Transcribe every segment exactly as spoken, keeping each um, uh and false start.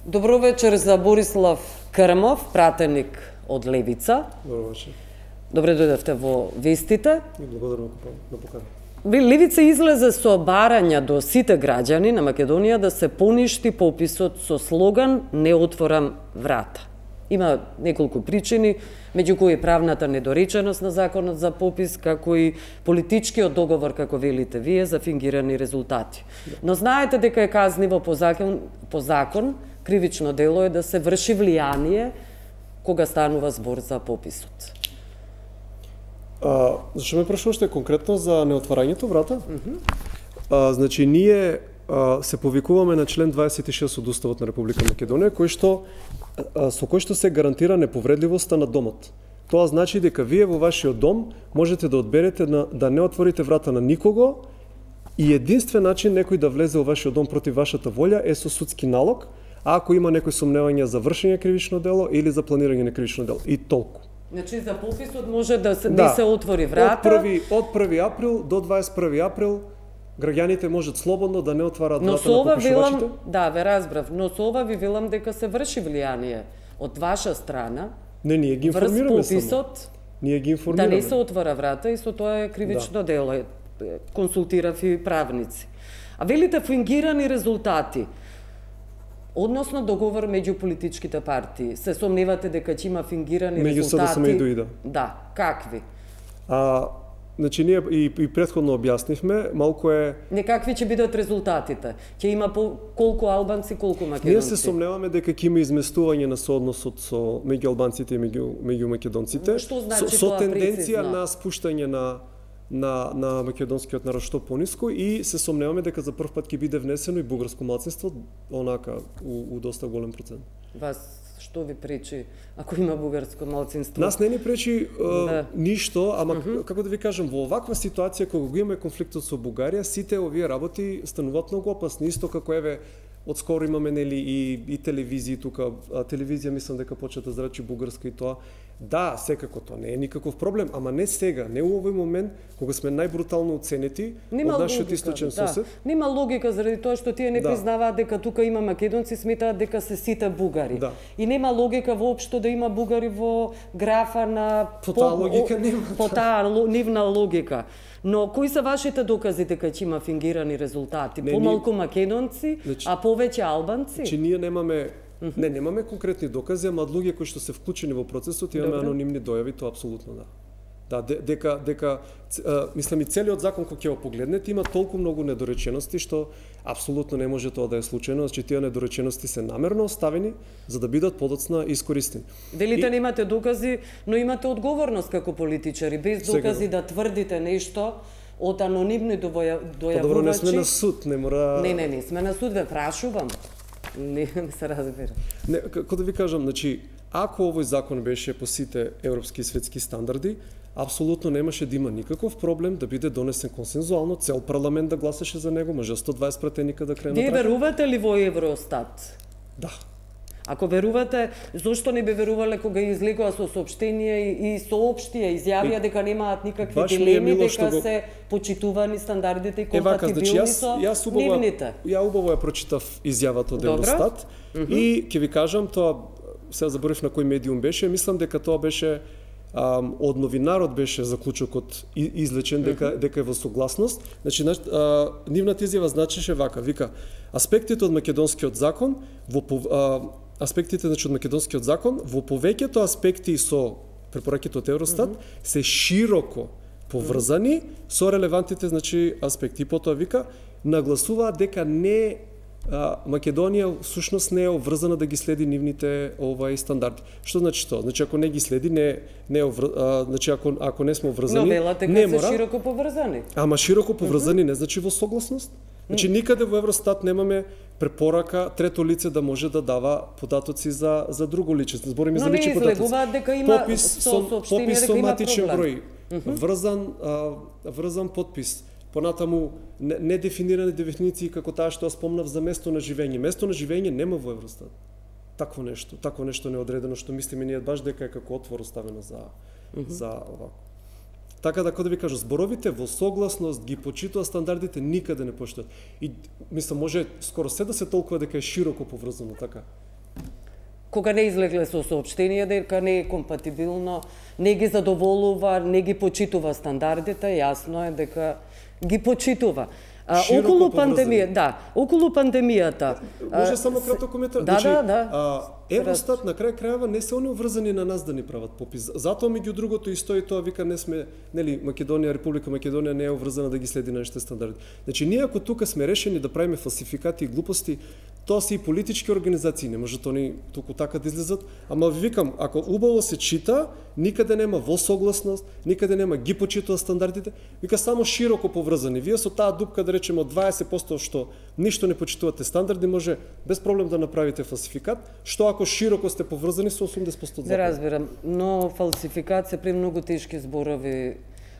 Добро вечер за Борислав Крмов, пратеник од Левица. Добро вечер. Добре дојдевте во вестите. И благодарам на покана. Левица излезе со барања до сите граѓани на Македонија да се поништи пописот со слоган "Не отворам врата". Има неколку причини, меѓу кои правната недореченост на законот за попис, како и политичкиот договор, како велите вие, за фингирани резултати. Но знаете дека е казниво по закон, по закон кривично дело е да се врши влијание кога станува збор за пописот. А, зашто ме прашувате конкретно за неотварањето врата? Mm -hmm. а, значи, ние а, се повикуваме на член дваесет и шест од Уставот на Република Македонија, кој што, а, со кој што се гарантира неповредливоста на домот. Тоа значи дека вие во вашиот дом можете да одберете на, да не отворите врата на никого и единствен начин некој да влезе во вашиот дом против вашата волја е со судски налог, а ако има некои сомневања за вршење кривично дело или за планирање на кривично дело. И толку. Значи за пописот може да се, да. се отвори врата. Од први, од први април до дваесет и први април граѓаните можат слободно да не отвараат врата на попишувачите. Велам, да, ве разбрав, но со ова ви велам дека се врши влијание од ваша страна. Не, ние ги информираме врз пописот, само. Ние ги информираме. Да не се отвора врата и со тоа е кривично да. дело. Консултирав и правници. А велите фингирани резултати. Односно договор меѓу политичките партии. Се сомневате дека ќе има фингирани меѓу резултати? Меѓу СДСМ и ДОИД. Да, какви? А, значи ние и, и претходно објаснивме, малку е... Некакви ќе бидат резултатите? Ќе има по колку албанци, колку македонци? Ние се сомневаме дека ќе има изместување на соодносот со меѓу албанците и меѓу меѓу македонците. Што значи со, со тоа тенденција прецизно? на спуштање на на на македонскиот народ што пониско и се сомневаме дека за прв пат ќе биде внесено и бугарско малцинство онака у, у доста голем процент. Вас што ви пречи ако има бугарско малцинство? Нас не ни пречи uh, да. ништо, ама uh -huh. како да ви кажам, во оваква ситуација кога го имаме конфликтот со Бугарија, сите овие работи стануваат многу опасни, исто како еве отскоро имаме нели и и телевизии тука, а, телевизија мислам дека почна да зрачи бугарска и тоа. Да, секако тоа не е никаков проблем, ама не сега, не у овој момент кога сме најбрутално оценети од нашиот источен да. сосед. Нема логика заради тоа што тие не да. признаваат дека тука има македонци, сметаат дека се сите бугари. Да. И нема логика воопшто да има бугари во графа на по таа логика нема. По таа нивна логика. Но кои се вашите докази дека ќе има фингирани резултати? Не, Помалку ни... македонци, значи, а повеќе албанци? Значи ние немаме Mm -hmm. Не, немаме конкретни докази, ама од луѓе кои што се вклучени во процесот имаме Добре. анонимни дојави, тоа апсолутно да. Да, дека дека а, мислам и целиот закон кој ќе го погледнете има толку многу недоречености што апсолутно не може тоа да е случајно, значи тие недоречености се намерно оставени за да бидат подоцна искористени. Велите и... не имате докази, но имате одговорност како политичари, без докази Сега... да тврдите нешто од анонимни дојавувачи. Добро, не сме на суд, не мора. Не, не, не, сме на суд, ве прашувам. Не, не се разбира. Не, како да ви кажам, значи, ако овој закон беше по сите европски и светски стандарди, апсолутно немаше да има никаков проблем да биде донесен консензуално, цел парламент да гласаше за него, може сто дваесет пратеника да кренат. Вие верувате ли во Евростат? Да. Ако верувате, зошто не би верувале кога излегува со соопштение и соопштија, изјавија дека немаат никакви дилеми, дека го... се почитувани стандардите и компатибилни значи, со јас убаво, нивните? Ја убаво ја прочитав изјавата од Евростат mm -hmm. и ќе ви кажам, тоа сега заборив на кој медиум беше, мислам дека тоа беше Um, од новинарот беше заклучокот излечен дека mm -hmm. дека е во согласност. Значи а, нивната изјава значеше вака, вика: аспектите од македонскиот закон во а, аспектите значи од македонскиот закон во повеќето аспекти со препораките од Евростат mm -hmm. се широко поврзани mm -hmm. со релевантните значи аспекти. Потоа вика нагласуваат дека не А, Македонија всушност не е обврзана да ги следи нивните овај стандарди. Што значи тоа? Значи ако не ги следи, не не е а, значи ако ако не сме обврзани, Но велате не мора. Се широко поврзани. Ама широко поврзани mm -hmm. не значи во согласност. Значи никаде во Евростат немаме препорака трето лице да може да дава податоци за за друго лице. Збориме за лични податоци. Но не дека има попис со попис со матичен број, mm -hmm. врзан а, врзан подпис. Понатаму недефинирани дефиниции како таа што ја спомнав за место на живење. Место на живење нема во Евростат. Такво нешто, такво нешто неодредено што мислиме ние баш дека е како отвор оставено за mm -hmm. за ова. Така да, како да ви кажам, зборовите во согласност ги почитува стандардите, никаде не поштојат. И мислам може скоро се да се толкува дека е широко поврзано, така. кога не излегле со соопштение дека не е компатибилно, не ги задоволува, не ги почитува стандардите, јасно е дека ги почитува. А, околу пандемија, да, околу пандемијата. Може само краток коментар. Да, значи, да, да. А, Евростат на крај крајава не се они врзани на нас да ни прават попис. Затоа меѓу другото и стои тоа, вика, не сме, нели, Македонија, Република Македонија не е обврзана да ги следи нашите стандарди. Значи ние ако тука сме решени да правиме фалсификати и глупости, тоа се и политички организации, не можат они туку така да излезат, ама ви викам, ако убаво се чита, никаде нема во согласност, никаде нема ги почитува стандардите, вика само широко поврзани. Вие со таа дупка, да речеме, од дваесет проценти што ништо не почитувате стандарди, може без проблем да направите фалсификат, што ако широко сте поврзани со осумдесет проценти од закон. Да разбирам, но фалсификат се премногу тешки зборови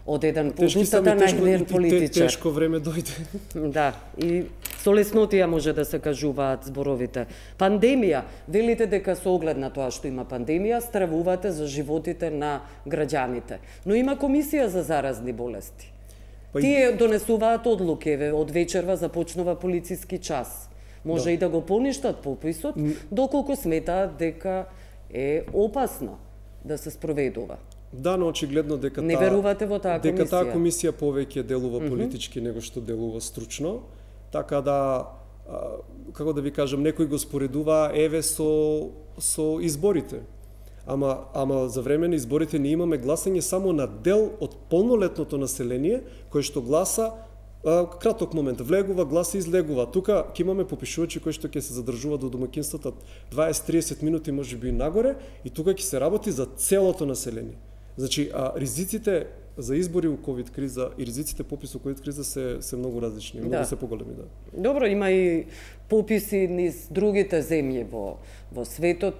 од еден тешки устата на еден политичар. Тешко време дојде. Да, и со леснотија може да се кажуваат зборовите. Пандемија, велите дека со оглед на тоа што има пандемија, стравувате за животите на граѓаните. Но има комисија за заразни болести. Па Тие и... донесуваат одлуки, еве, од вечерва започнува полициски час. Може да. И да го поништат пописот, доколку сметаат дека е опасно да се спроведува. Да, но очигледно дека не верувате во таа комисија. Дека таа комисија повеќе делува политички mm -hmm. него што делува стручно, така да а, како да ви кажам, некој го споредува еве со со изборите. Ама ама за време на изборите ние имаме гласање само на дел од полнолетното население кој што гласа а, краток момент, влегува, гласа, излегува. Тука ќе имаме попишувачи кои што ќе се задржуваат до домаќинствата дваесет до триесет минути, можеби и нагоре, и тука ќе се работи за целото население. Значи, а ризиците за избори у ковид криза и ризиците попис у ковид криза се се многу различни, многу да. се поголеми, да. Добро, има и пописи низ другите земји во во светот.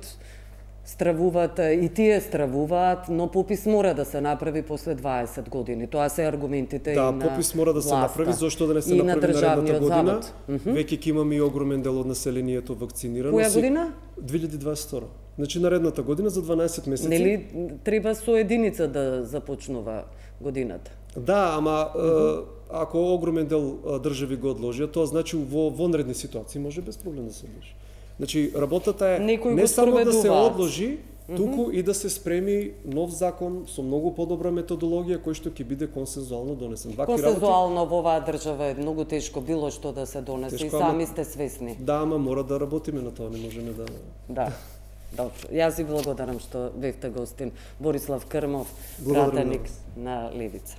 Стравуваат и тие стравуваат, но попис мора да се направи после дваесет години. Тоа се аргументите да, и на попис мора да се власта. направи, зашто да не се и направи на наредната година. Mm -hmm. Веќе ќе имаме и огромен дел од населението вакцинирано. Која година? две илјади дваесет и втора. Значи наредната година за дванаесет месеци. Нели треба со единица да започнува годината? Да, ама mm -hmm. ако огромен дел држави го одложија, тоа значи во вонредни ситуации може без проблем да се одложи. Значи работата е Некој не само да се одложи, mm -hmm. туку и да се спреми нов закон со многу подобра методологија кој што ќе биде консензуално донесен. Ваки консензуално работи... во оваа држава е многу тешко било што да се донесе тешко, и сами ама... сте свесни. Да, ама мора да работиме на тоа, не можеме да... Да. Добро. Јас ви благодарам што бевте гостин. Борислав Крмов, пратеник на Левица.